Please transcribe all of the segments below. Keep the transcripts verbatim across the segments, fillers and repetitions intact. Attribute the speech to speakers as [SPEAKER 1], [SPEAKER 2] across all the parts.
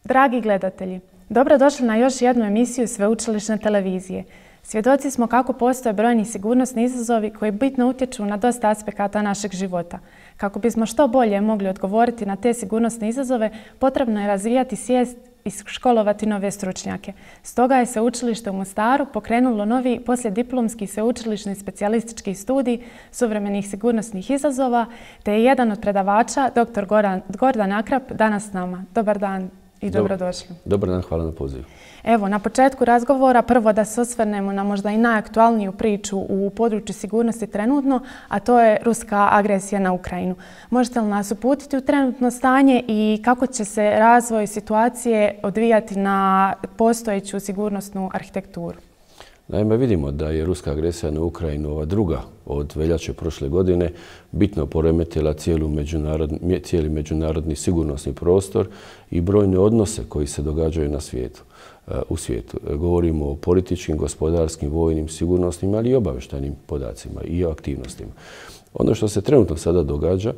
[SPEAKER 1] Dragi gledatelji, dobrodošli na još jednu emisiju Sveučilišne televizije. Svjedoci smo kako postoje brojni sigurnosni izazovi koji bitno utječu na dosta aspekata našeg života. Kako bismo što bolje mogli odgovoriti na te sigurnosne izazove, potrebno je razvijati svijest i školovati nove stručnjake. Stoga je Sveučilište u Mostaru pokrenulo novi poslijediplomski sveučilišni specijalistički studij suvremenih sigurnosnih izazova, te je jedan od predavača, doktor Gordan Akrap, danas s nama. Dobar dan i dobrodošli.
[SPEAKER 2] Dobar dan, hvala na pozivu.
[SPEAKER 1] Evo, na početku razgovora prvo da se osvrnemo na možda i najaktualniju priču u području sigurnosti trenutno, a to je ruska agresija na Ukrajinu. Možete li nas uputiti u trenutno stanje i kako će se razvoj situacije odvijati na postojeću sigurnosnu arhitekturu?
[SPEAKER 2] Naime, vidimo da je ruska agresija na Ukrajinu, ova druga od veljače prošle godine, bitno poremetila cijeli međunarodni sigurnosni prostor i brojne odnose koji se događaju na svijetu. U svijetu. Govorimo o političkim, gospodarskim, vojnim, sigurnosnim, ali i obavještajnim podacima i o aktivnostima. Ono što se trenutno sada događa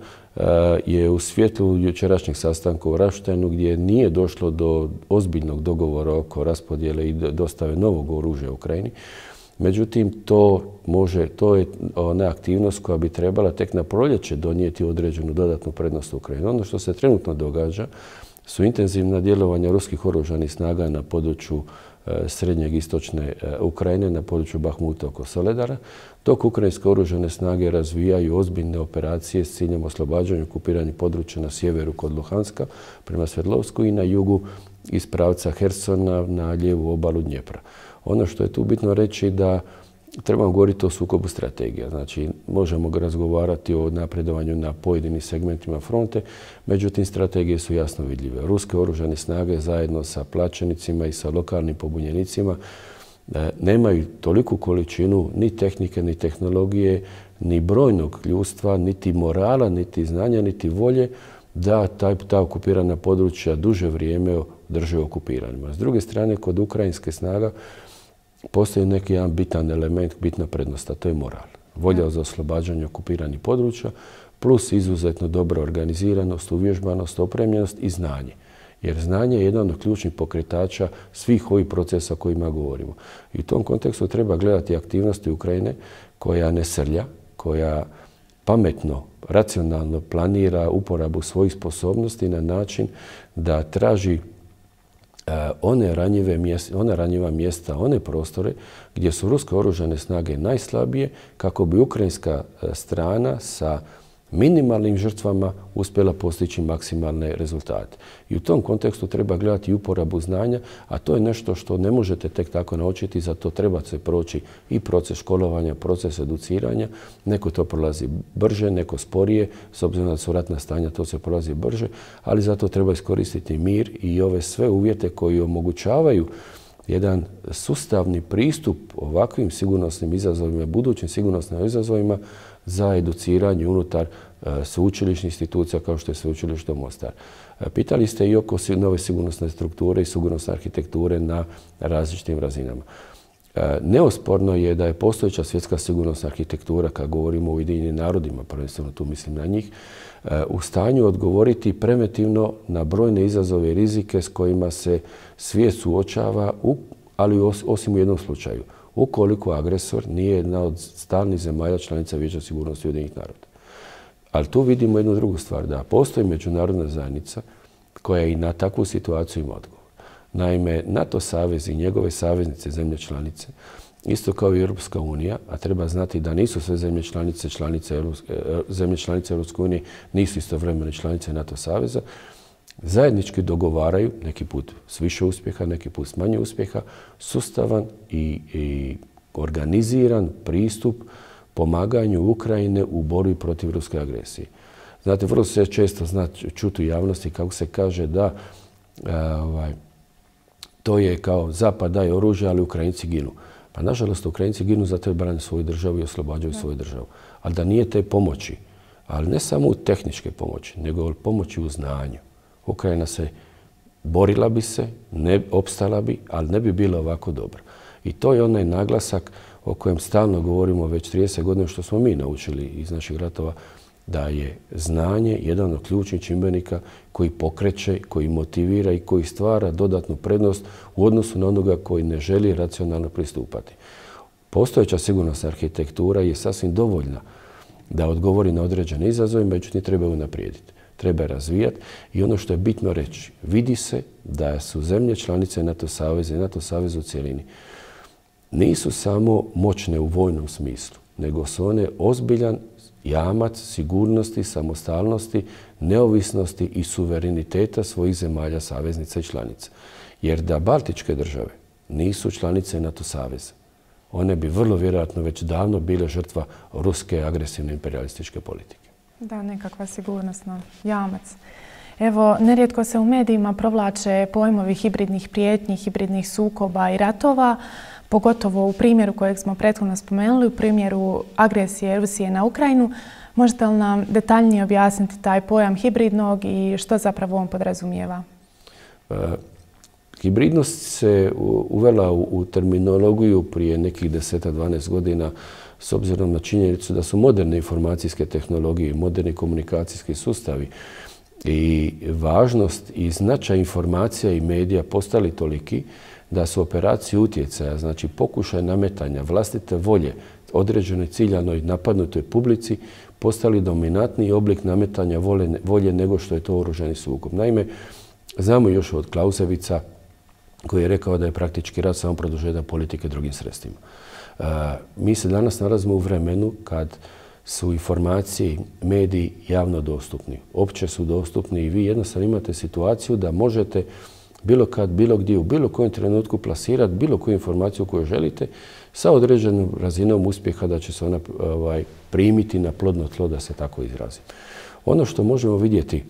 [SPEAKER 2] je u svjetlu jučerašnjeg sastanka u Ramsteinu gdje nije došlo do ozbiljnog dogovora oko raspodjele i dostave novog oružja Ukrajini. Međutim, to može, to je ona aktivnost koja bi trebala tek na proljeće donijeti određenu dodatnu prednost Ukrajini. Ono što se trenutno događa su intenzivna djelovanja ruskih oružanih snaga na području srednjeg istočne Ukrajine, na području Bahmuta oko Soledara, dok ukrajinske oružane snage razvijaju ozbiljne operacije s ciljem oslobađanja okupiranih područja na sjeveru kod Luhanska prema Sverdlovsku i na jugu iz pravca Hersona na lijevu obalu Dnjepra. Ono što je tu bitno reći da trebamo govoriti o sukobu strategija. Znači, možemo razgovarati o napredovanju na pojedinim segmentima fronte, međutim, strategije su jasno vidljive. Ruske oružane snage zajedno sa plaćenicima i sa lokalnim pobunjenicima nemaju toliku količinu ni tehnike, ni tehnologije, ni brojnog ljudstva, niti morala, niti znanja, niti volje da ta okupirana područja duže vrijeme drže okupiranima. S druge strane, kod ukrajinske snaga postoji neki jedan bitan element, bitna prednost, a to je moral. Volja za oslobađanje okupiranih područja plus izuzetno dobra organiziranost, uvježbanost, opremljenost i znanje. Jer znanje je jedan od ključnih pokretača svih ovih procesa o kojima govorimo. I u tom kontekstu treba gledati aktivnosti Ukrajine koja ne srlja, koja pametno, racionalno planira uporabu svojih sposobnosti na način da traži one ranjive mjesta, ona ranjiva mjesta, one prostore gdje su ruske oružane snage najslabije kako bi ukrajinska strana sa minimalnim žrtvama uspjela postići maksimalne rezultate. I u tom kontekstu treba gledati uporabu znanja, a to je nešto što ne možete tek tako naučiti, za to treba se proći i proces školovanja, proces educiranja. Neko to prolazi brže, neko sporije, s obzirom da su ratna stanja, to se prolazi brže, ali zato treba iskoristiti mir i ove sve uvjete koji omogućavaju jedan sustavni pristup ovakvim sigurnosnim izazovima, budućim sigurnosnim izazovima za educiranje unutar sveučilišnih institucija kao što je Sveučilište Mostar. Pitali ste i oko nove sigurnosne strukture i sigurnosne arhitekture na različitim razinama. Neosporno je da je postojeća svjetska sigurnosna arhitektura, kad govorimo o Ujedinjenim narodima, prvenstveno tu mislim na njih, u stanju odgovoriti preventivno na brojne izazove i rizike s kojima se svijet suočava, ali osim u jednom slučaju. Ukoliko agresor nije jedna od stalnih zemalja članica Vijeća sigurnosti Ujedinjenih naroda. Ali tu vidimo jednu drugu stvar, da postoji međunarodna zajednica koja i na takvu situaciju ima odgovor. Naime, NATO savez i njegove saveznice, zemlje članice, isto kao i Europska unija, a treba znati da nisu sve zemlje članice, članice zemlje članice Europske unije, nisu istovremeno članice NATO saveza, zajednički dogovaraju, neki put s više uspjeha, neki put s manje uspjeha, sustavan i, i organiziran pristup pomaganju Ukrajine u borbi protiv ruske agresije. Znate, vrlo se često zna čuti u javnosti kako se kaže da a, ovaj, to je kao Zapad daje oružje, ali Ukrajinci ginu. Pa nažalost, Ukrajinci ginu zato jer brane svoju državu i oslobađaju svoju državu. Ali da nije te pomoći, ali ne samo u tehničke pomoći, nego pomoći u znanju. Ukrajina se borila bi se, ne opstala bi, ali ne bi bila ovako dobra. I to je onaj naglasak o kojem stalno govorimo već trideset godina, što smo mi naučili iz naših ratova, da je znanje jedan od ključnih čimbenika koji pokreće, koji motivira i koji stvara dodatnu prednost u odnosu na onoga koji ne želi racionalno pristupati. Postojeća sigurnosna arhitektura je sasvim dovoljna da odgovori na određene izazove, međutim treba ju unaprijediti. Treba razvijati i ono što je bitno reći, vidi se da su zemlje članice NATO saveza i NATO saveza u cjelini nisu samo moćne u vojnom smislu, nego su one ozbiljan jamac sigurnosti, samostalnosti, neovisnosti i suvereniteta svojih zemalja saveznica i članica. Jer da baltičke države nisu članice NATO saveza, one bi vrlo vjerojatno već davno bile žrtva ruske agresivne imperialističke politike.
[SPEAKER 1] Da, nekakva sigurnosna jamac. Evo, nerijetko se u medijima provlače pojmovi hibridnih prijetnji, hibridnih sukoba i ratova, pogotovo u primjeru kojeg smo prethodno spomenuli, u primjeru agresije Rusije na Ukrajinu. Možete li nam detaljnije objasniti taj pojam hibridnog i što zapravo on podrazumijeva?
[SPEAKER 2] E, hibridnost se uvela u, u terminologiju prije nekih deseta dvanaest godina s obzirom na činjenicu da su moderne informacijske tehnologije, moderni komunikacijski sustavi i važnost i značaj informacija i medija postali toliki da su operacije utjecaja, znači pokušaj nametanja vlastite volje određenoj ciljanoj napadnutoj publici, postali dominantniji oblik nametanja volje nego što je to oružani sukob. Naime, znamo još od Clausewitza koji je rekao da je praktički rat samo produžetak politike drugim sredstvima. Mi se danas nalazimo u vremenu kad su informacije, mediji javno dostupni. Opće su dostupni i vi jednostavno imate situaciju da možete bilo kad, bilo gdje, u bilo kojem trenutku plasirati bilo koju informaciju koju želite sa određenom razinom uspjeha da će se ona ovaj, primiti na plodno tlo, da se tako izrazim. Ono što možemo vidjeti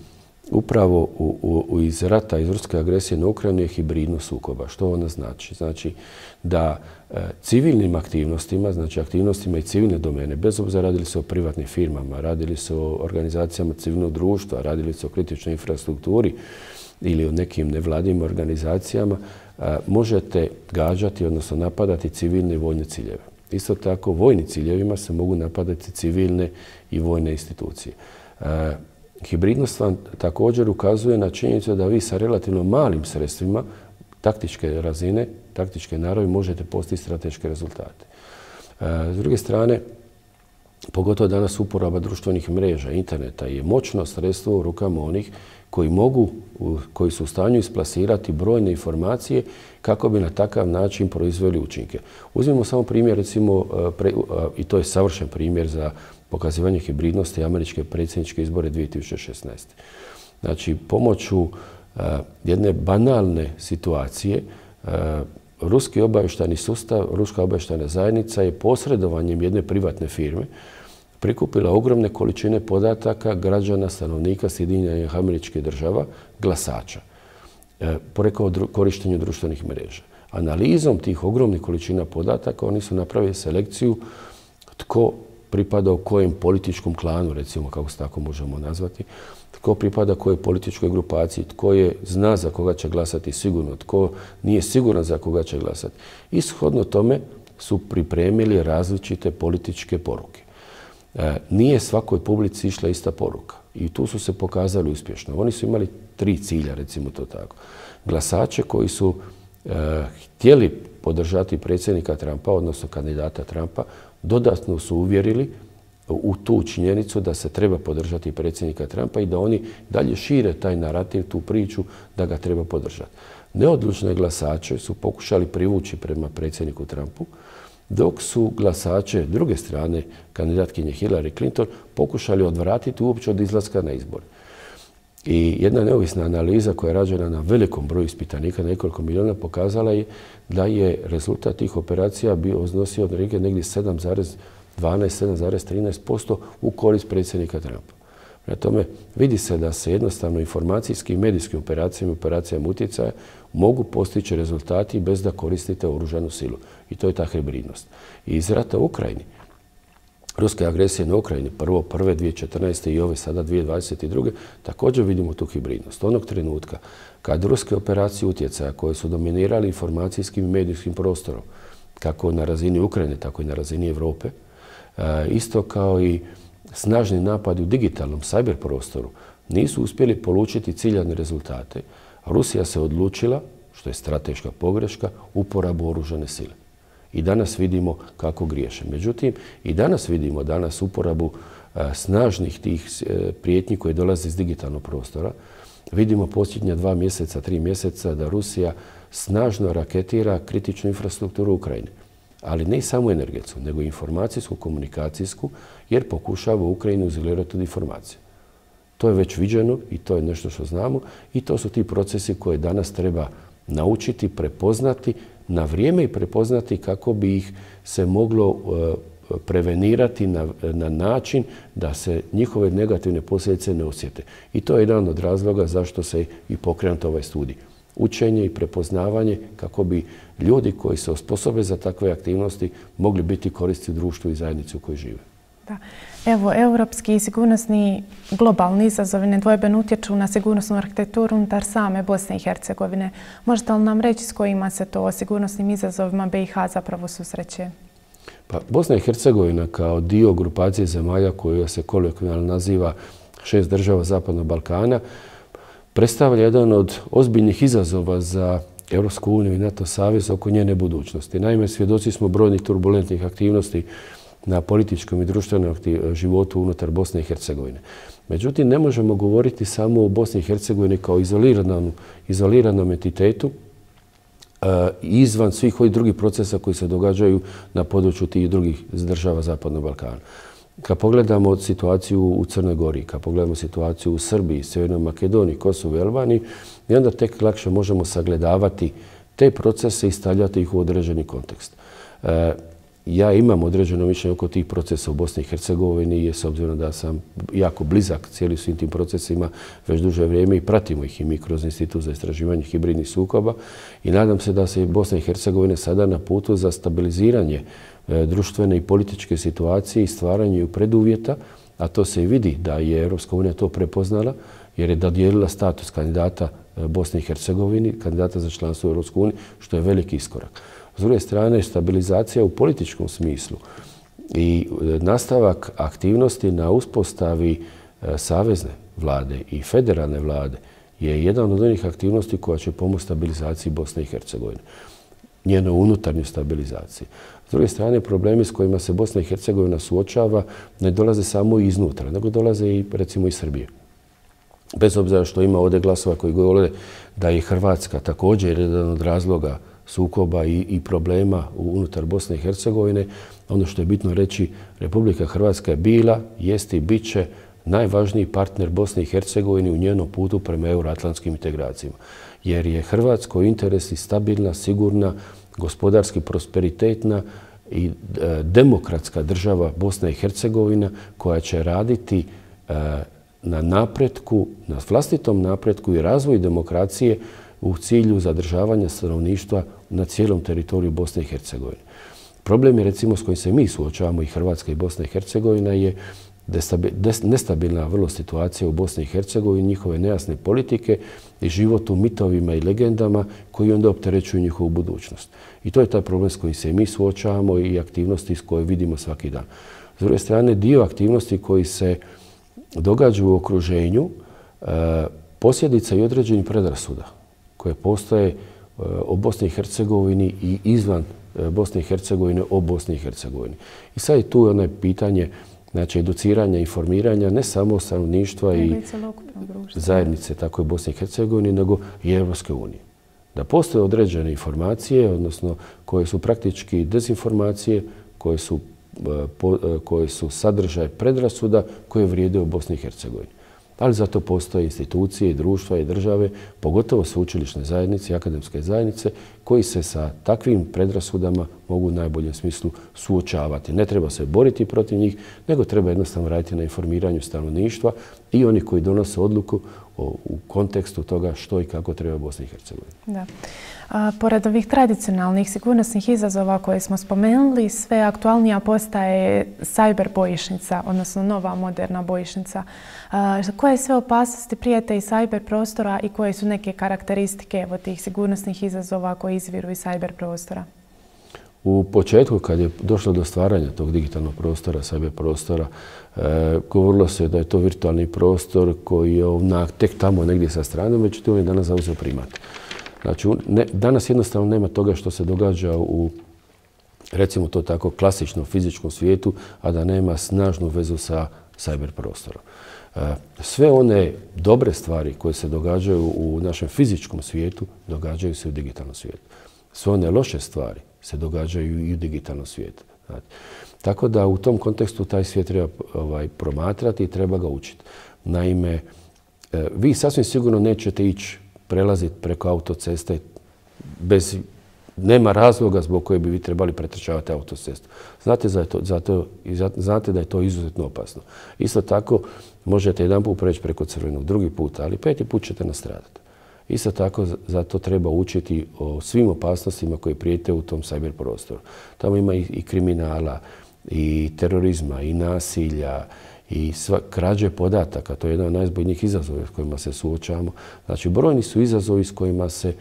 [SPEAKER 2] upravo u, u, iz rata, iz ruske agresije na Ukrajinu je hibridnost sukoba. Što ona znači? Znači da e, civilnim aktivnostima, znači aktivnostima i civilne domene, bez obzira radili se o privatnim firmama, radili se o organizacijama civilnog društva, radili se o kritičnoj infrastrukturi ili o nekim nevladinim organizacijama, a, možete gađati, odnosno napadati civilne i vojne ciljeve. Isto tako, vojnim ciljevima se mogu napadati civilne i vojne institucije. A, hibridnost vam također ukazuje na činjenicu da vi sa relativno malim sredstvima taktičke razine, taktičke naravi možete postići strateške rezultate. A, s druge strane, pogotovo danas uporaba društvenih mreža, interneta je moćno sredstvo u rukama onih koji mogu, koji su u stanju isplasirati brojne informacije kako bi na takav način proizveli učinke. Uzmimo samo primjer, recimo, i to je savršen primjer za pokazivanje hibridnosti američke predsjedničke izbore dvije tisuće šesnaeste. Znači, pomoću jedne banalne situacije, ruski obavještajni sustav, ruska obavještajna zajednica je posredovanjem jedne privatne firme prikupila ogromne količine podataka građana, stanovnika Sjedinjenih Američkih Država, glasača, porekao korištenju društvenih mreža. Analizom tih ogromnih količina podataka oni su napravili selekciju tko pripada u kojem političkom klanu, recimo kako se tako možemo nazvati, tko pripada kojoj političkoj grupaciji, tko je zna za koga će glasati sigurno, tko nije siguran za koga će glasati. Ishodno tome su pripremili različite političke poruke. E, nije svakoj publici išla ista poruka i tu su se pokazali uspješno. Oni su imali tri cilja, recimo to tako. Glasače koji su e, htjeli podržati predsjednika Trumpa, odnosno kandidata Trumpa, dodatno su uvjerili u tu činjenicu da se treba podržati predsjednika Trumpa i da oni dalje šire taj narativ, tu priču da ga treba podržati. Neodlučne glasače su pokušali privući prema predsjedniku Trumpu, dok su glasače druge strane, kandidatkinje Hillary Clinton, pokušali odvratiti uopće od izlaska na izbor. I jedna neovisna analiza koja je rađena na velikom broju ispitanika, nekoliko miliona, pokazala je da je rezultat tih operacija bio iznosio od negdje sedam zarez dvanaest, sedam zarez trinaest posto u korist predsjednika Trumpa. Prema tome, vidi se da se jednostavno informacijskim i medijskim operacijama i operacijama utjecaja mogu postići rezultati bez da koristite oružanu silu. I to je ta hibridnost. I iz rata u Ukrajini, ruske agresije na Ukrajini, prvo prve dvije tisuće četrnaeste i ove sada dvije tisuće dvadeset druge, također vidimo tu hibridnost. Onog trenutka kad ruske operacije utjecaja koje su dominirali informacijskim i medijskim prostorom, kako na razini Ukrajine, tako i na razini Evrope, isto kao i snažni napadi u digitalnom cyber prostoru nisu uspjeli polučiti ciljane rezultate. Rusija se odlučila, što je strateška pogreška, uporabu oružane sile. I danas vidimo kako griješe. Međutim, i danas vidimo danas uporabu a, snažnih tih a, prijetnji koje dolaze iz digitalnog prostora. Vidimo posljednja dva mjeseca, tri mjeseca da Rusija snažno raketira kritičnu infrastrukturu Ukrajine. Ali ne samo energetsku, nego i informacijsku, komunikacijsku, jer pokušava Ukrajinu izolirati od informacije. To je već viđeno i to je nešto što znamo i to su ti procesi koje danas treba naučiti, prepoznati na vrijeme i prepoznati kako bi ih se moglo prevenirati na, na način da se njihove negativne posljedice ne osjete. I to je jedan od razloga zašto se i pokrenut ovaj studij. Učenje i prepoznavanje kako bi ljudi koji se osposobe za takve aktivnosti mogli biti koristi u društvu i zajednici u kojoj žive.
[SPEAKER 1] Da. Evo, europski i sigurnosni globalni izazovi nedvojbeno utječu na sigurnosnu arhitekturu unutar same Bosne i Hercegovine. Možete li nam reći s kojima se to sigurnosnim izazovima B i H zapravo susreće?
[SPEAKER 2] Pa, Bosna i Hercegovina kao dio grupacije zemalja koja se kolokvijalno naziva šest država Zapadnog Balkana predstavlja jedan od ozbiljnih izazova za Europsku uniju i NATO savez oko njene budućnosti. Naime, svjedoci smo brojnih turbulentnih aktivnosti na političkom i društvenom životu unutar Bosne i Hercegovine. Međutim, ne možemo govoriti samo o Bosni i Hercegovini kao izoliranom, izoliranom entitetu uh, izvan svih ovih drugih procesa koji se događaju na području tih drugih država Zapadnog Balkana. Kad pogledamo situaciju u Crnoj Gori, kad pogledamo situaciju u Srbiji, Sjevernoj Makedoniji, Kosovu i Albaniji, i onda tek lakše možemo sagledavati te procese i stavljati ih u određeni kontekst. Uh, Ja imam određeno mišljenje oko tih procesa u Bosni i Hercegovini, jer s obzirom da sam jako blizak cijeli svim tim procesima već duže vrijeme i pratimo ih i mi kroz Institut za istraživanje hibridnih sukoba i nadam se da se Bosna i Hercegovina sada na putu za stabiliziranje e, društvene i političke situacije i stvaranje preduvjeta, a to se i vidi da je Europska unija to prepoznala jer je dodijelila status kandidata Bosne i Hercegovini, kandidata za članstvo u Europskoj uniji, što je veliki iskorak. S druge strane, stabilizacija u političkom smislu i nastavak aktivnosti na uspostavi savezne vlade i federalne vlade je jedan od onih aktivnosti koja će pomoći stabilizaciji Bosne i Hercegovine, njenoj unutarnjoj stabilizaciji. S druge strane, problemi s kojima se Bosna i Hercegovina suočava ne dolaze samo iznutra, nego dolaze i recimo iz Srbije. Bez obzira što ima ovdje glasova koji govore da je Hrvatska također jedan od razloga sukoba i, i problema unutar Bosne i Hercegovine. Ono što je bitno reći, Republika Hrvatska je bila, jest i bit će najvažniji partner Bosne i Hercegovine u njenom putu prema euroatlantskim integracijama. Jer je Hrvatskoj interes i stabilna, sigurna, gospodarski prosperitetna i e, demokratska država Bosna i Hercegovina koja će raditi e, na napretku, na vlastitom napretku i razvoju demokracije u cilju zadržavanja stanovništva na cijelom teritoriju Bosne i Hercegovine. Problem je, recimo, s kojim se mi suočavamo i Hrvatska i Bosna i Hercegovina je nestabilna vrlo situacija u Bosni i Hercegovini, njihove nejasne politike i život u mitovima i legendama koji onda opterećuju njihovu budućnost. I to je taj problem s kojim se mi suočavamo i aktivnosti s koje vidimo svaki dan. S druge strane, dio aktivnosti koji se događaju u okruženju posljedica i određenih predrasuda koje postoje o Bosni i Hercegovini i izvan Bosne i Hercegovine o Bosni i Hercegovini. I sad je tu ono pitanje znači, educiranja, informiranja ne samo stanovništva i zajednice, tako i Bosne i Hercegovine, nego i Europske unije. Da postoje određene informacije, odnosno koje su praktički dezinformacije, koje su, koje su sadržaj predrasuda koje vrijede u Bosni i Hercegovini. Ali zato postoje institucije, društva i države, pogotovo sveučilišne zajednice i akademske zajednice, koji se sa takvim predrasudama mogu u najboljem smislu suočavati. Ne treba se boriti protiv njih, nego treba jednostavno raditi na informiranju stanovništva i oni koji donose odluku o, u kontekstu toga što i kako treba Bosni i Hercegovini.
[SPEAKER 1] Da. A, pored ovih tradicionalnih sigurnosnih izazova koje smo spomenuli, sve aktualnija postaje cyber bojišnica, odnosno nova moderna bojišnica. A, koje sve opasnosti prijete iz cyber prostora i koje su neke karakteristike evo, tih sigurnosnih izazova koji izviru iz cyber prostora?
[SPEAKER 2] U početku, kad je došlo do stvaranja tog digitalnog prostora, cyber prostora, e, govorilo se da je to virtualni prostor koji je na, tek tamo negdje sa strane, međutim on je danas zauzeo primat. Znači, ne, danas jednostavno nema toga što se događa u, recimo to tako, klasičnom fizičkom svijetu, a da nema snažnu vezu sa cyber prostorom. E, sve one dobre stvari koje se događaju u našem fizičkom svijetu, događaju se u digitalnom svijetu. Sve one loše stvari se događaju i u digitalnom svijetu. Znači, tako da u tom kontekstu taj svijet treba ovaj, promatrati i treba ga učiti. Naime, e, vi sasvim sigurno nećete ići prelaziti preko autoceste bez, nema razloga zbog koje bi vi trebali pretrčavati autocestu. Znate, za to, zato, znate da je to izuzetno opasno. Isto tako, možete jedan put preći preko crvenog, drugi put, ali peti put ćete nastradati. Isto tako, zato treba učiti o svim opasnostima koje prijete u tom cyber prostoru. Tamo ima i, i kriminala, i terorizma, i nasilja, i sva, krađe podataka. To je jedan od najzbojnijih izazova s kojima se suočavamo. Znači, brojni su izazovi s kojima se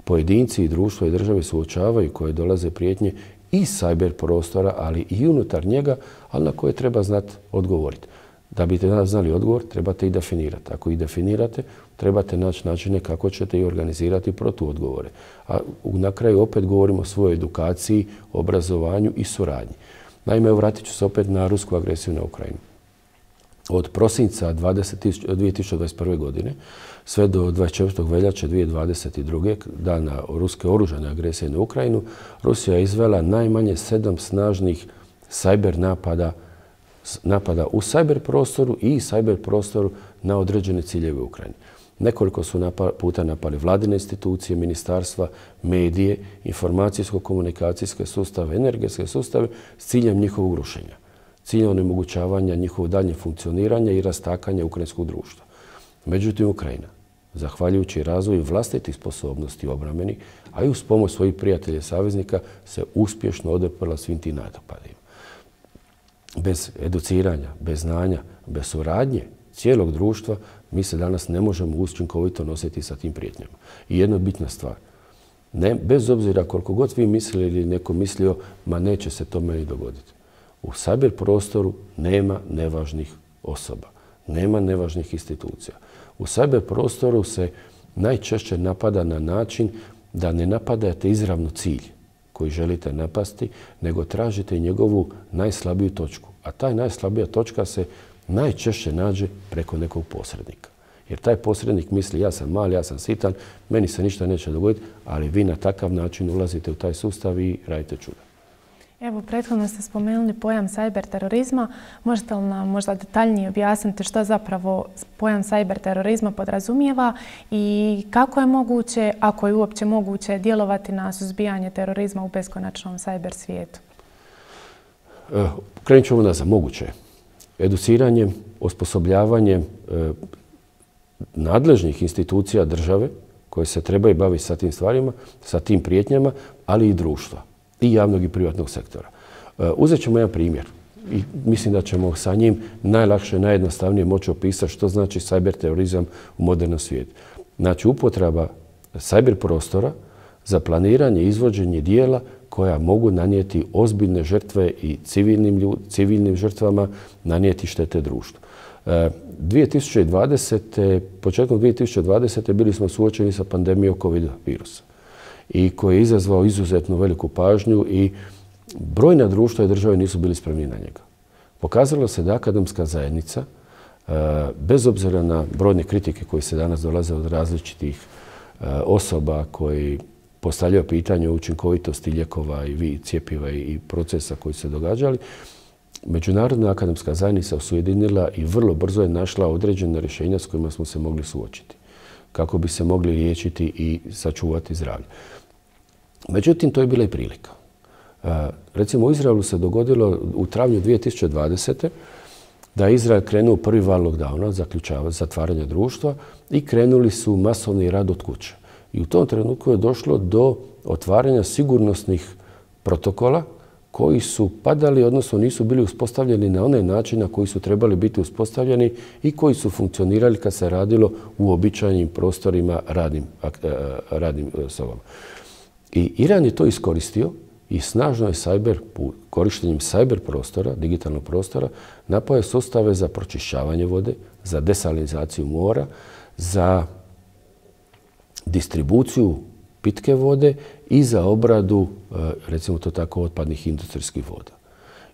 [SPEAKER 2] pojedinci i društvo i države suočavaju, koje dolaze prijetnje iz cyber prostora, ali i unutar njega, ali na koje treba znati odgovoriti. Da biste danas znali odgovor, trebate i definirati. Ako ih definirate, trebate naći načine kako ćete i organizirati protuodgovore. A na kraju opet govorimo o svojoj edukaciji, obrazovanju i suradnji. Naime, vratit ću se opet na rusku agresiju na Ukrajinu. Od prosinca dvije tisuće dvadeset prve. godine sve do dvadeset četvrtog veljače dvije tisuće dvadeset druge. dana ruske oružane agresije na Ukrajinu, Rusija je izvela najmanje sedam snažnih cyber napada napada u cyber prostoru i cyber prostoru na određene ciljeve u Ukrajini. Nekoliko su napa, puta napali vladine institucije, ministarstva, medije, informacijsko-komunikacijske sustave, energetske sustave s ciljem njihovog rušenja, ciljem onemogućavanja njihovog daljnjeg funkcioniranja i rastakanja ukrajinskog društva. Međutim, Ukrajina, zahvaljujući razvoju vlastitih sposobnosti obrambenih, a i uz pomoć svojih prijatelja i saveznika, se uspješno odeprla svim tim napadima. Bez educiranja, bez znanja, bez suradnje cijelog društva, mi se danas ne možemo učinkovito nositi sa tim prijetnjama. I jedna bitna stvar, ne, bez obzira koliko god vi mislili ili neko mislio, ma neće se to meni dogoditi. U cyber prostoru nema nevažnih osoba, nema nevažnih institucija. U cyber prostoru se najčešće napada na način da ne napadate izravno cilj koji želite napasti, nego tražite njegovu najslabiju točku. A ta najslabija točka se najčešće nađe preko nekog posrednika. Jer taj posrednik misli ja sam mal, ja sam sitan, meni se ništa neće dogoditi, ali vi na takav način ulazite u taj sustav i radite čuda.
[SPEAKER 1] Evo, prethodno ste spomenuli pojam cyber terorizma. Možete li nam možda detaljnije objasniti što zapravo pojam cyber terorizma podrazumijeva i kako je moguće, ako je uopće moguće, djelovati na suzbijanje terorizma u beskonačnom cyber svijetu?
[SPEAKER 2] E, krenut ćemo nazad. Moguće je. Educiranjem, osposobljavanjem e, nadležnih institucija države koje se trebaju baviti sa tim stvarima, sa tim prijetnjama, ali i društva. I javnog i privatnog sektora. Uzet ćemo jedan primjer i mislim da ćemo sa njim najlakše, najjednostavnije moći opisati što znači cyber terorizam u modernom svijetu. Znači, upotreba cyber prostora za planiranje i izvođenje dijela koja mogu nanijeti ozbiljne žrtve i civilnim, ljud, civilnim žrtvama nanijeti štete društvu. dvije tisuće dvadesete. Početkom dvije tisuće dvadesete. bili smo suočeni sa pandemijom COVID virusa i koji je izazvao izuzetno veliku pažnju i brojna društva i države nisu bili spremni na njega. Pokazalo se da akademska zajednica, bez obzira na brojne kritike koje se danas dolaze od različitih osoba koji postavljaju pitanje o učinkovitosti lijekova i cjepiva i procesa koji su se događali, Međunarodna akademska zajednica ujedinila i vrlo brzo je našla određene rješenja s kojima smo se mogli suočiti, kako bi se mogli liječiti i sačuvati zdravlje. Međutim, to je bila i prilika. Recimo, u Izraelu se dogodilo u travnju dvije tisuće dvadesete. da je Izrael krenuo prvi val lockdowna, zaključavanja, zatvaranja društva i krenuli su masovni rad od kuće. I u tom trenutku je došlo do otvaranja sigurnosnih protokola koji su padali, odnosno nisu bili uspostavljeni na onaj način na koji su trebali biti uspostavljeni i koji su funkcionirali kad se radilo u običajnim prostorima radnim, radnim sobama. I Iran je to iskoristio i snažno je cyber, korištenjem cyber prostora, digitalnog prostora, napoje sustave za pročišćavanje vode, za desalinizaciju mora, za distribuciju pitke vode i za obradu, recimo to tako, otpadnih industrijskih voda.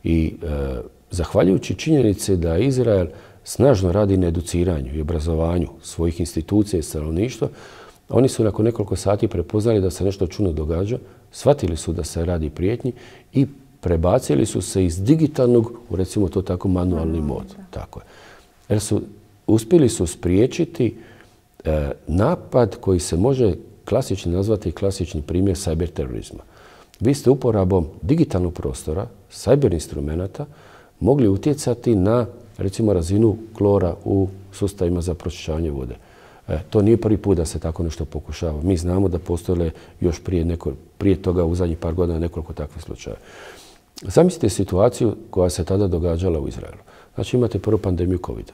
[SPEAKER 2] I e, zahvaljujući činjenici da Izrael snažno radi na educiranju i obrazovanju svojih institucija i stanovništva, oni su nakon nekoliko sati prepoznali da se nešto čudno događa, shvatili su da se radi prijetnji i prebacili su se iz digitalnog u, recimo to tako, manualni mod. Tako je. Jer su, uspjeli su spriječiti e, napad koji se može klasični nazvati klasični primjer cyber terorizma. Vi ste uporabom digitalnog prostora, cyber instrumenata, mogli utjecati na, recimo, razinu klora u sustavima za pročišćavanje vode. E, to nije prvi put da se tako nešto pokušava. Mi znamo da postoje još prije, neko, prije toga u zadnjih par godina nekoliko takvih slučaja. Zamislite situaciju koja se tada događala u Izraelu. Znači imate prvu pandemiju kovida.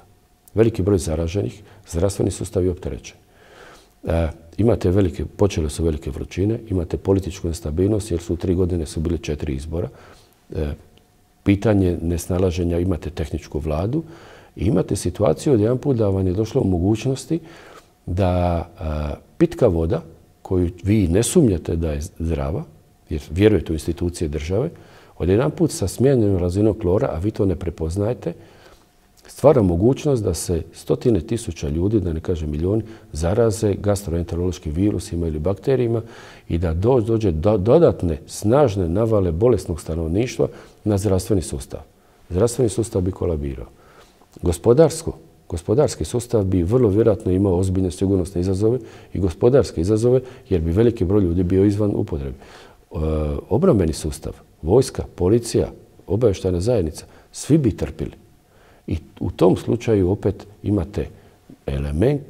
[SPEAKER 2] Veliki broj zaraženih, zdravstveni sustav je opterećen. E, imate velike, počele su velike vrućine, imate političku nestabilnost jer su u tri godine su bili četiri izbora. E, pitanje nesnalaženja, imate tehničku vladu i imate situaciju od jedan put da vam je došlo u mogućnosti da a, pitka voda koju vi ne sumnjate da je zdrava, jer vjerujete u institucije države, od jedan put sa smijenjenom razinom klora, a vi to ne prepoznajete, stvara mogućnost da se stotine tisuća ljudi, da ne kažem milijoni, zaraze gastroenterološkim virusima ili bakterijima i da dođe do dodatne, snažne navale bolesnog stanovništva na zdravstveni sustav. Zdravstveni sustav bi kolabirao. Gospodarsko, gospodarski sustav bi vrlo vjerojatno imao ozbiljne sigurnosne izazove i gospodarske izazove jer bi veliki broj ljudi bio izvan upotrebe. E, obrambeni sustav, vojska, policija, obavještajna zajednica, svi bi trpili. I u tom slučaju opet imate element,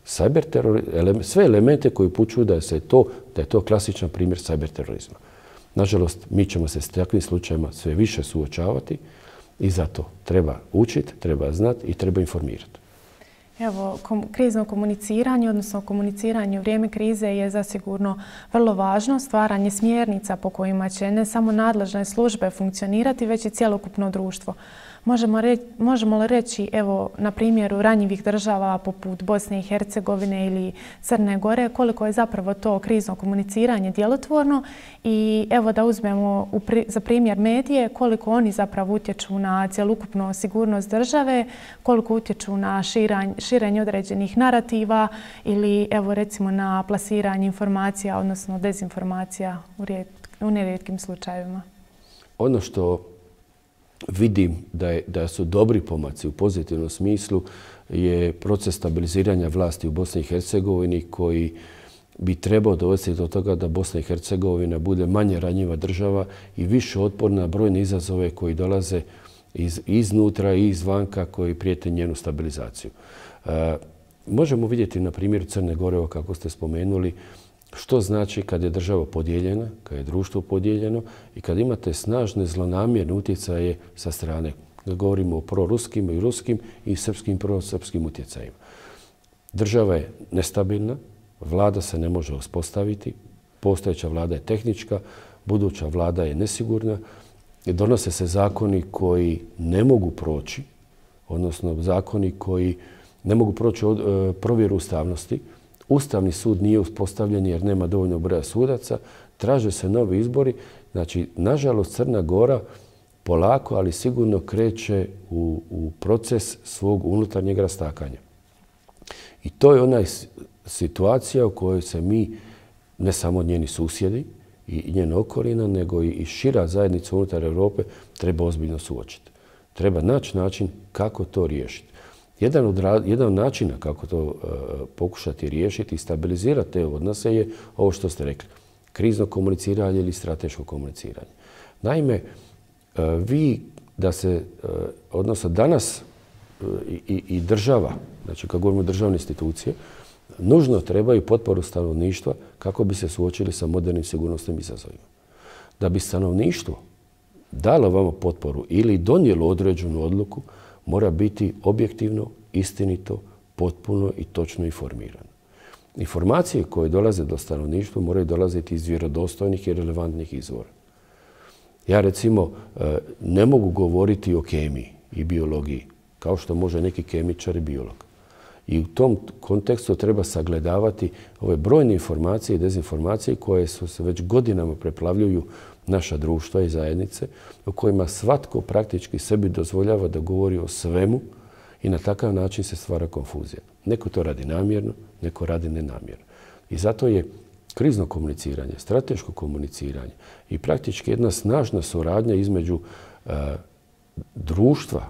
[SPEAKER 2] cyber teror, element, sve elemente koji upućuju da, se to, da je to klasičan primjer cyber terorizma. Nažalost, mi ćemo se s takvim slučajima sve više suočavati i zato treba učiti, treba znati i treba informirati.
[SPEAKER 1] Evo, kom, krizno komuniciranje, odnosno komuniciranje u vrijeme krize je zasigurno vrlo važno. Stvaranje smjernica po kojima će ne samo nadležne službe funkcionirati, već i cjelokupno društvo. Možemo, reći, možemo li reći, evo, na primjeru ranjivih država poput Bosne i Hercegovine ili Crne Gore, koliko je zapravo to krizno komuniciranje djelotvorno i evo da uzmemo u pri, za primjer medije, koliko oni zapravo utječu na cjelokupnu sigurnost države, koliko utječu na širanj, širenje određenih narativa ili evo recimo na plasiranje informacija, odnosno dezinformacija u, rijet, u nerijetkim slučajevima.
[SPEAKER 2] Ono što vidim da, je, da su dobri pomaci u pozitivnom smislu je proces stabiliziranja vlasti u Bosni i Hercegovini koji bi trebao dovesti do toga da Bosna i Hercegovina bude manje ranjiva država i više otporna na brojne izazove koji dolaze iz, iznutra i izvanka koji prijete njenu stabilizaciju. E, možemo vidjeti na primjeru Crne Gore, kako ste spomenuli, što znači kad je država podijeljena, kad je društvo podijeljeno i kad imate snažne zlonamjerne utjecaje sa strane. Govorimo o proruskim i ruskim i srpskim prosrpskim utjecajima. Država je nestabilna, vlada se ne može uspostaviti, postojeća vlada je tehnička, buduća vlada je nesigurna, donose se zakoni koji ne mogu proći, odnosno zakoni koji ne mogu proći od, e, provjeru ustavnosti. Ustavni sud nije uspostavljen jer nema dovoljno broja sudaca, traže se novi izbori. Znači, nažalost, Crna Gora polako, ali sigurno kreće u, u proces svog unutarnjeg rastakanja. I to je ona situacija u kojoj se mi, ne samo njeni susjedi i njena okolina, nego i šira zajednica unutar Europe treba ozbiljno suočiti. Treba naći način kako to riješiti. Jedan od, jedan od načina kako to uh, pokušati riješiti i stabilizirati te odnose je ovo što ste rekli. Krizno komuniciranje ili strateško komuniciranje. Naime, uh, vi da se, uh, odnosno danas uh, i, i država, znači kako govorimo o državne institucije, nužno trebaju potporu stanovništva kako bi se suočili sa modernim sigurnosnim izazovima. Da bi stanovništvo dalo vama potporu ili donijelo određenu odluku, mora biti objektivno, istinito, potpuno i točno informirano. Informacije koje dolaze do stanovništva moraju dolaziti iz vjerodostojnih i relevantnih izvora. Ja recimo ne mogu govoriti o kemiji i biologiji, kao što može neki kemičar i biolog. I u tom kontekstu treba sagledavati ove brojne informacije i dezinformacije koje su se već godinama preplavljuju naša društva i zajednice, u kojima svatko praktički sebi dozvoljava da govori o svemu i na takav način se stvara konfuzija. Neko to radi namjerno, neko radi nenamjerno. I zato je krizno komuniciranje, strateško komuniciranje i praktički jedna snažna suradnja između uh, društva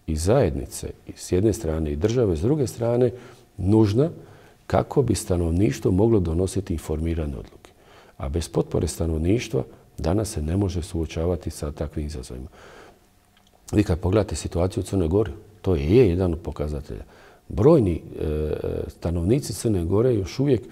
[SPEAKER 2] i zajednice s jedne strane i države s druge strane nužna kako bi stanovništvo moglo donositi informirane odluke. A bez potpore stanovništva danas se ne može suočavati sa takvim izazovima. Vi kad pogledate situaciju u Crnoj Gori, to je jedan od pokazatelja. Brojni e, stanovnici Crne Gore još uvijek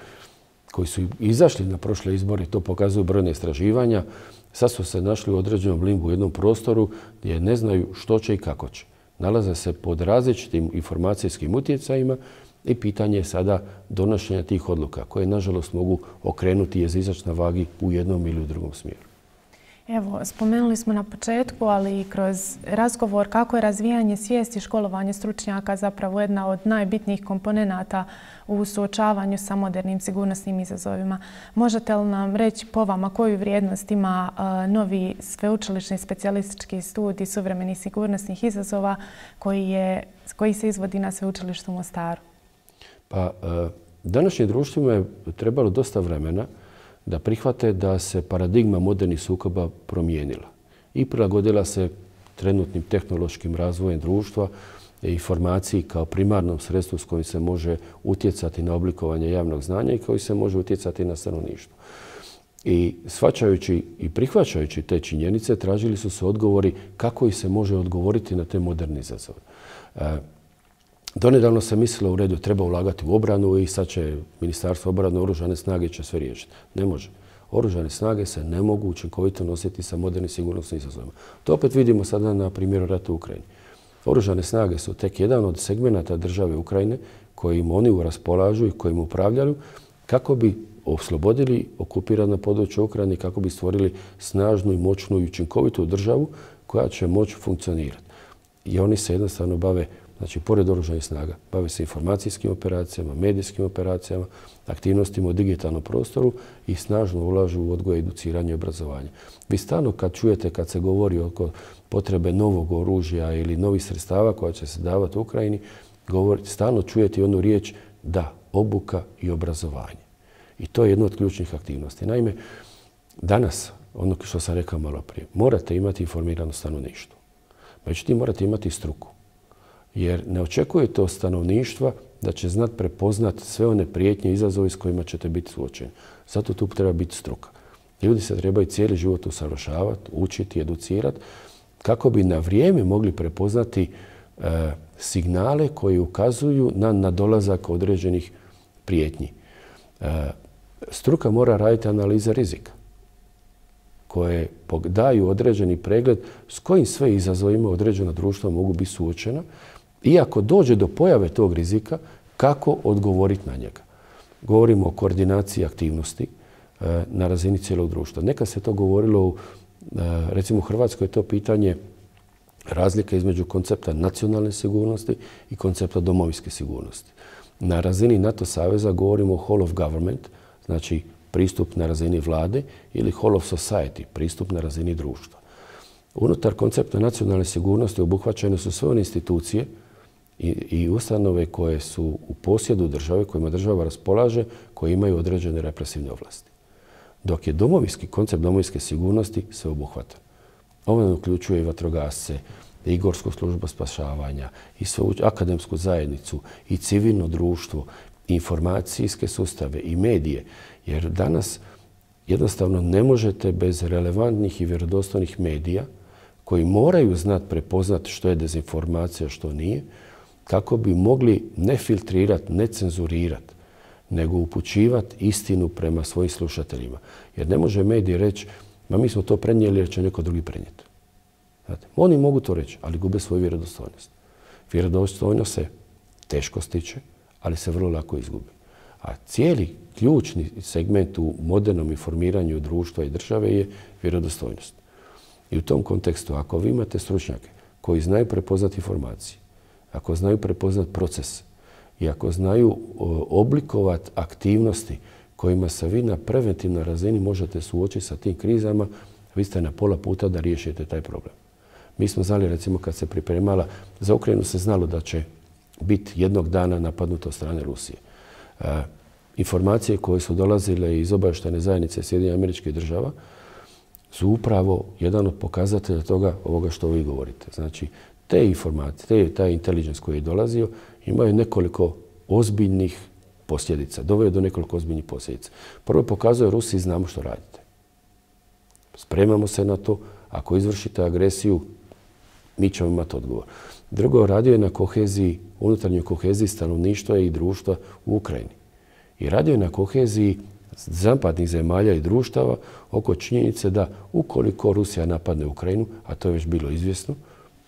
[SPEAKER 2] koji su izašli na prošle izbore, to pokazuju brojne istraživanja, sad su se našli u određenom limbu u jednom prostoru gdje ne znaju što će i kako će. Nalaze se pod različitim informacijskim utjecajima i pitanje je sada donošenja tih odluka koje, nažalost, mogu okrenuti jezičac na vagi u jednom ili u drugom smjeru.
[SPEAKER 1] Evo, spomenuli smo na početku, ali i kroz razgovor kako je razvijanje svijesti i školovanje stručnjaka zapravo jedna od najbitnijih komponenata u suočavanju sa modernim sigurnosnim izazovima. Možete li nam reći po vama koju vrijednost ima uh, novi sveučilišni specijalistički studij suvremenih sigurnosnih izazova koji, je, koji se izvodi na sveučilištu u Mostaru?
[SPEAKER 2] Pa, uh, današnjim društvima je trebalo dosta vremena da prihvate da se paradigma modernih sukoba promijenila i prilagodila se trenutnim tehnološkim razvojem društva i informaciji kao primarnom sredstvu s kojim se može utjecati na oblikovanje javnog znanja i koji se može utjecati na stanovništvo. I shvaćajući i prihvaćajući te činjenice, tražili su se odgovori kako ih se može odgovoriti na te moderne izazove. Donedavno se mislilo u redu treba ulagati u obranu i sad će Ministarstvo obrane, oružane snage će sve riješiti. Ne može. Oružane snage se ne mogu učinkovito nositi sa modernim sigurnosnim izazovima. To opet vidimo sada na primjeru rata u Ukrajini. Oružane snage su tek jedan od segmenata države Ukrajine kojim oni raspolažu i kojim upravljaju kako bi oslobodili okupirana područja Ukrajine i kako bi stvorili snažnu i moćnu i učinkovitu državu koja će moći funkcionirati. I oni se jednostavno bave, znači, pored oružanih snaga, bave se informacijskim operacijama, medijskim operacijama, aktivnostima u digitalnom prostoru i snažno ulažu u odgoj, educiranje i obrazovanje. Vi stalno kad čujete, kad se govori oko potrebe novog oružja ili novih sredstava koja će se davati u Ukrajini, govori, stalno čujete onu riječ da, obuka i obrazovanje. I to je jedna od ključnih aktivnosti. Naime, danas, ono što sam rekao malo prije, morate imati informirano stanovništvo. Međutim, morate imati struku. Jer ne očekujete od stanovništva da će znat prepoznat sve one prijetnje i izazove s kojima ćete biti suočeni. Zato tu treba biti struka. Ljudi se trebaju cijeli život usavršavati, učiti, educirati, kako bi na vrijeme mogli prepoznati e, signale koji ukazuju na nadolazak određenih prijetnji. E, struka mora raditi analize rizika koje daju određeni pregled s kojim sve izazovima određena društva mogu biti suočena i ako dođe do pojave tog rizika, kako odgovoriti na njega. Govorimo o koordinaciji aktivnosti na razini cijelog društva. Nekad se to govorilo, recimo u Hrvatskoj je to pitanje razlike između koncepta nacionalne sigurnosti i koncepta domovinske sigurnosti. Na razini NATO saveza govorimo o whole of government, znači pristup na razini vlade, ili whole of society, pristup na razini društva. Unutar koncepta nacionalne sigurnosti obuhvaćene su sve one institucije i, i ustanove koje su u posjedu države, kojima država raspolaže, koje imaju određene represivne ovlasti. Dok je domovinski koncept domovinske sigurnosti sve obuhvatan. Ovo uključuje i vatrogasce, i Gorsku službu spašavanja, i svu akademsku zajednicu, i civilno društvo, i informacijske sustave, i medije. Jer danas jednostavno ne možete bez relevantnih i vjerodostojnih medija koji moraju znat prepoznat što je dezinformacija, što nije, kako bi mogli ne filtrirati, ne cenzurirati, nego upućivati istinu prema svojim slušateljima. Jer ne može medij reći, ma mi smo to prenijeli jer će neko drugi prenijeti. Znate, oni mogu to reći, ali gube svoju vjerodostojnost. Vjerodostojnost se teško stiče, ali se vrlo lako izgubi. A cijeli ključni segment u modernom informiranju društva i države je vjerodostojnost. I u tom kontekstu, ako vi imate stručnjake koji znaju prepoznati informacije, ako znaju prepoznati proces i ako znaju oblikovati aktivnosti kojima se vi na preventivnoj razini možete suočiti sa tim krizama, vi ste na pola puta da riješite taj problem. Mi smo znali, recimo, kad se pripremala, za Ukrajinu se znalo da će biti jednog dana napadnuto od strane Rusije. E, informacije koje su dolazile iz obavještajne zajednice Sjedinjenih Američkih Država su upravo jedan od pokazatelja toga ovoga što vi govorite. Znači, te informacije, te, taj intelligence koji je dolazio, imaju nekoliko ozbiljnih posljedica. Doveo do nekoliko ozbiljnih posljedica. Prvo pokazuje Rusiji znamo što radite. Spremamo se na to. Ako izvršite agresiju, mi ćemo imati odgovor. Drugo, radio je na koheziji, unutarnjoj koheziji stanovništva i društva u Ukrajini. I radio je na koheziji zapadnih zemalja i društava oko činjenice da ukoliko Rusija napadne Ukrajinu, a to je već bilo izvjesno,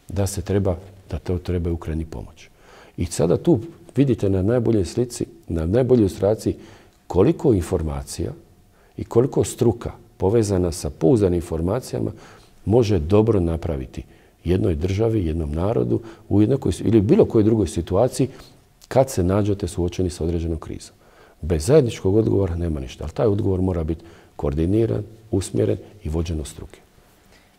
[SPEAKER 2] da se treba, da to treba Ukrajini pomoć. I sada tu vidite na najboljoj slici, na najboljoj ilustraciji koliko informacija i koliko struka povezana sa pouzdanim informacijama može dobro napraviti jednoj državi, jednom narodu u jednakoj, ili bilo kojoj drugoj situaciji kad se nađete suočeni sa određenom krizom. Bez zajedničkog odgovora nema ništa, ali taj odgovor mora biti koordiniran, usmjeren i vođen od struke.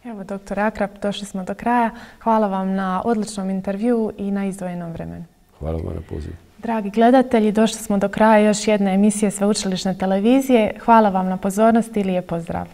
[SPEAKER 1] Evo, doktor Akrap, došli smo do kraja. Hvala vam na odličnom intervjuu i na izdvojenom vremenu.
[SPEAKER 2] Hvala vam na pozivu.
[SPEAKER 1] Dragi gledatelji, došli smo do kraja još jedne emisije Sveučilišne televizije. Hvala vam na pozornosti i lijep pozdrav.